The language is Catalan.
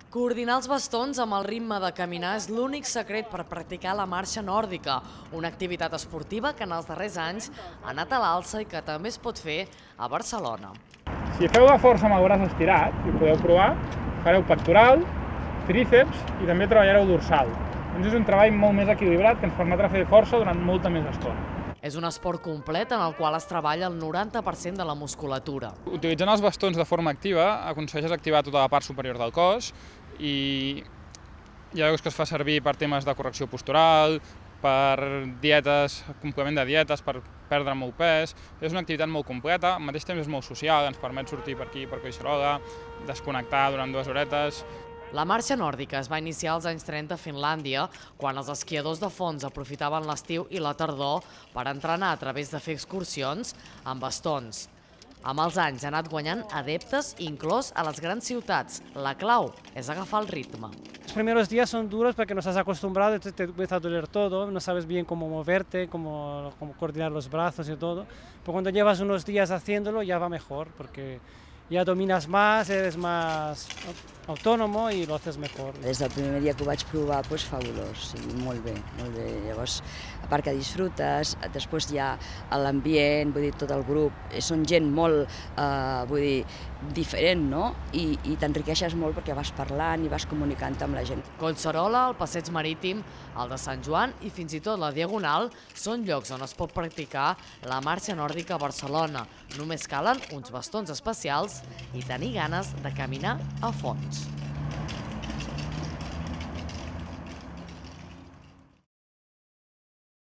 Coordinar els bastons amb el ritme de caminar és l'únic secret per practicar la marxa nòrdica, una activitat esportiva que en els darrers anys ha anat a l'alça i que també es pot fer a Barcelona. Si feu la força amb el braç estirat, i ho podeu provar, fareu pectoral, tríceps i també treballareu dorsal. Doncs és un treball molt més equilibrat que ens permetrà fer força durant molta més estona. És un esport complet en el qual es treballa el 90% de la musculatura. Utilitzant els bastons de forma activa aconsegueixes activar tota la part superior del cos i hi ha que es fa servir per temes de correcció postural, per dietes, complement de dietes, per perdre molt pes. És una activitat molt completa, al mateix temps és molt social, ens permet sortir per aquí, per Collserola, desconnectar durant 2 horetes. La marxa nòrdica es va iniciar als anys 30 a Finlàndia, quan els esquiadors de fons aprofitaven l'estiu i la tardor per entrenar a través de fer excursions amb bastons. Amb els anys ha anat guanyant adeptes, inclòs a les grans ciutats. La clau és agafar el ritme. Los primeros días son duros porque no estás acostumbrado, entonces te empieza a doler todo, no sabes bien cómo moverte, cómo coordinar los brazos y todo. Pero cuando llevas unos días haciéndolo ya va mejor, porque ja domines més, eres més autònom i ho haces mejor. Des del primer dia que ho vaig provar, doncs fabulós, molt bé, molt bé. Llavors, a part que disfrutes, després hi ha l'ambient, vull dir, tot el grup, són gent molt, vull dir, diferent, no? I t'enriqueixes molt perquè vas parlant i vas comunicant amb la gent. Collserola, el Passeig Marítim, el de Sant Joan i fins i tot la Diagonal són llocs on es pot practicar la marxa nòrdica a Barcelona. Només calen uns bastons especials i tenir ganes de caminar a fons.